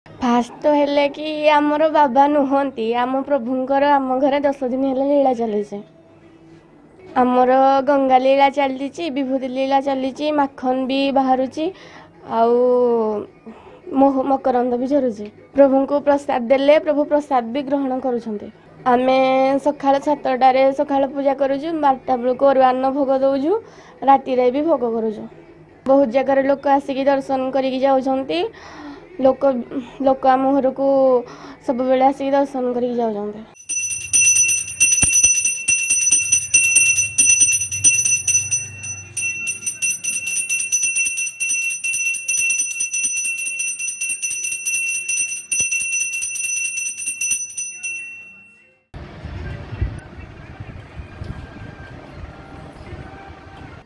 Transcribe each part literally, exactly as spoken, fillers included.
First ତ ହେଲେ କି ଆମର ବାବା ନୁହନ୍ତି, ଆମ ପ୍ରଭୁଙ୍କର ଆମ ଘରେ ଦଶ ଦିନ ହେଲା ଲୀଳା ଚାଲିଛି। ଆମର ଗଙ୍ଗା ଲୀଳା ଚାଲିଛି, ବିଭୂତି ଲୀଳା ଚାଲିଛି, ମାଖନ ବି ବାହାରୁଛି ଆଉ ମହୁ ମକରନ୍ଦ ବି ଝରୁଛି। ପ୍ରଭୁଙ୍କୁ ପ୍ରସାଦ ଦେଲେ ପ୍ରଭୁ ପ୍ରସାଦ ବି ଗ୍ରହଣ କରୁଛନ୍ତି। ଆମେ ସକାଳ ସାତଟାରେ ସକାଳ ପୂଜା କରୁଛୁ, ବାରଟା ବେଳକୁ ଅରୁଆ ଅନ୍ନ ଭୋଗ ଦେଉଛୁ, ରାତିରେ ବି ଭୋଗ କରୁଛୁ। ବହୁତ ଜାଗାରେ ଲୋକ ଆସିକି ଦର୍ଶନ କରିକି ଯାଉଛନ୍ତି। ଲୋକ ଲୋକ ଆମ ଘରକୁ ସବୁବେଳେ ଆସିକି ଦର୍ଶନ କରିକି ଯାଉଛନ୍ତି।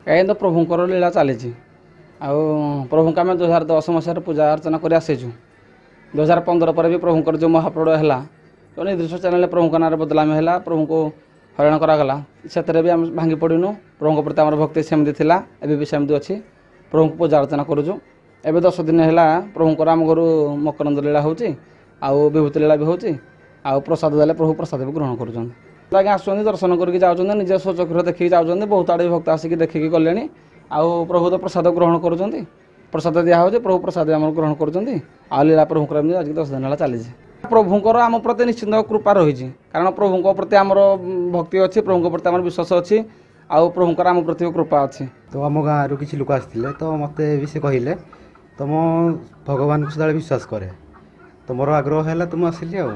କାହିଁକି ତ ପ୍ରଭୁଙ୍କର ଲୀଳା ଚାଲିଛି। ଆଉ ପ୍ରଭୁଙ୍କୁ ଆମେ ଦୁଇ ହଜାର ଦଶ ମସିହାରେ ପୂଜା ଅର୍ଚ୍ଚନା କରି ଆସିଛୁ। ଦୁଇ ହଜାର ପନ୍ଦର ପରେ ବି ପ୍ରଭୁଙ୍କର ଯେଉଁ ମହାପ୍ରଳୟ ହେଲା, ଯେଉଁ ନିର୍ଦ୍ଦିଷ୍ଟ ଚ୍ୟାନେଲରେ ପ୍ରଭୁଙ୍କ ନାଁରେ ବଦନାମୀ ହେଲା, ପ୍ରଭୁଙ୍କୁ ହଇରାଣ କରାଗଲା, ସେଥିରେ ବି ଆମେ ଭାଙ୍ଗି ପଡ଼ିନୁ। ପ୍ରଭୁଙ୍କ ପ୍ରତି ଆମର ଭକ୍ତି ସେମିତି ଥିଲା, ଏବେ ବି ସେମିତି ଅଛି। ପ୍ରଭୁଙ୍କୁ ପୂଜା ଅର୍ଚ୍ଚନା କରୁଛୁ। ଏବେ ଦଶ ଦିନ ହେଲା ପ୍ରଭୁଙ୍କର ଆମ ଘରୁ ମକରନ୍ଦ ଲୀଳା ହେଉଛି ଆଉ ବିଭୂତି ଲୀଳା ବି ହେଉଛି। ଆଉ ପ୍ରସାଦ ଦେଲେ ପ୍ରଭୁ ପ୍ରସାଦ ବି ଗ୍ରହଣ କରୁଛନ୍ତି। ଆଜ୍ଞା ଆସୁଛନ୍ତି, ଦର୍ଶନ କରିକି ଯାଉଛନ୍ତି, ନିଜ ସ୍ୱଚକ୍ଷୁରେ ଦେଖିକି ଯାଉଛନ୍ତି। ବହୁତ ଆଡ଼େ ଭକ୍ତ ଆସିକି ଦେଖିକି ଗଲେଣି। ଆଉ ପ୍ରଭୁ ତ ପ୍ରସାଦ ଗ୍ରହଣ କରୁଛନ୍ତି, ପ୍ରସାଦ ଦିଆହେଉଛି, ପ୍ରଭୁ ପ୍ରସାଦ ଆମର ଗ୍ରହଣ କରୁଛନ୍ତି। ଆଉ ଲୀଳା ପ୍ରଭୁଙ୍କର ଏମିତି ଆଜିକି ଦଶ ଦିନ ହେଲା ଚାଲିଛି। ପ୍ରଭୁଙ୍କର ଆମ ପ୍ରତି ନିଶ୍ଚିନ୍ତ କୃପା ରହିଛି, କାରଣ ପ୍ରଭୁଙ୍କ ପ୍ରତି ଆମର ଭକ୍ତି ଅଛି, ପ୍ରଭୁଙ୍କ ପ୍ରତି ଆମର ବିଶ୍ୱାସ ଅଛି, ଆଉ ପ୍ରଭୁଙ୍କର ଆମ ପ୍ରତି କୃପା ଅଛି। ତ ଆମ ଗାଁରୁ କିଛି ଲୋକ ଆସିଥିଲେ, ତ ମୋତେ ବି ସେ କହିଲେ ତ ମୁଁ ଭଗବାନଙ୍କୁ ସଦାବେଳେ ବିଶ୍ୱାସ କରେ, ତ ମୋର ଆଗ୍ରହ ହେଲା ତ ମୁଁ ଆସିଲି। ଆଉ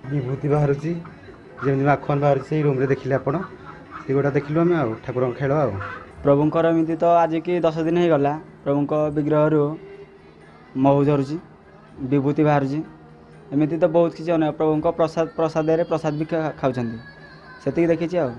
ବିଭୂତି ବାହାରୁଛି, ଯେମିତି ମାଖନ ବାହାରୁଛି ସେଇ ରୁମ୍ରେ ଦେଖିଲେ ଆପଣ, ସେଗୁଡ଼ା ଦେଖିଲୁ ଆମେ। ଆଉ ଠାକୁରଙ୍କ ଖେଳ ଆଉ ପ୍ରଭୁଙ୍କର ଏମିତି ତ ଆଜିକି ଦଶ ଦିନ ହେଇଗଲା, ପ୍ରଭୁଙ୍କ ବିଗ୍ରହରୁ ମହୁ ଝରୁଛି, ବିଭୂତି ବାହାରୁଛି, ଏମିତି ତ ବହୁତ କିଛି ଅନେକ। ପ୍ରଭୁଙ୍କ ପ୍ରସାଦ ପ୍ରସାଦରେ ପ୍ରସାଦ ବି ଖାଉଛନ୍ତି, ସେତିକି ଦେଖିଛି ଆଉ।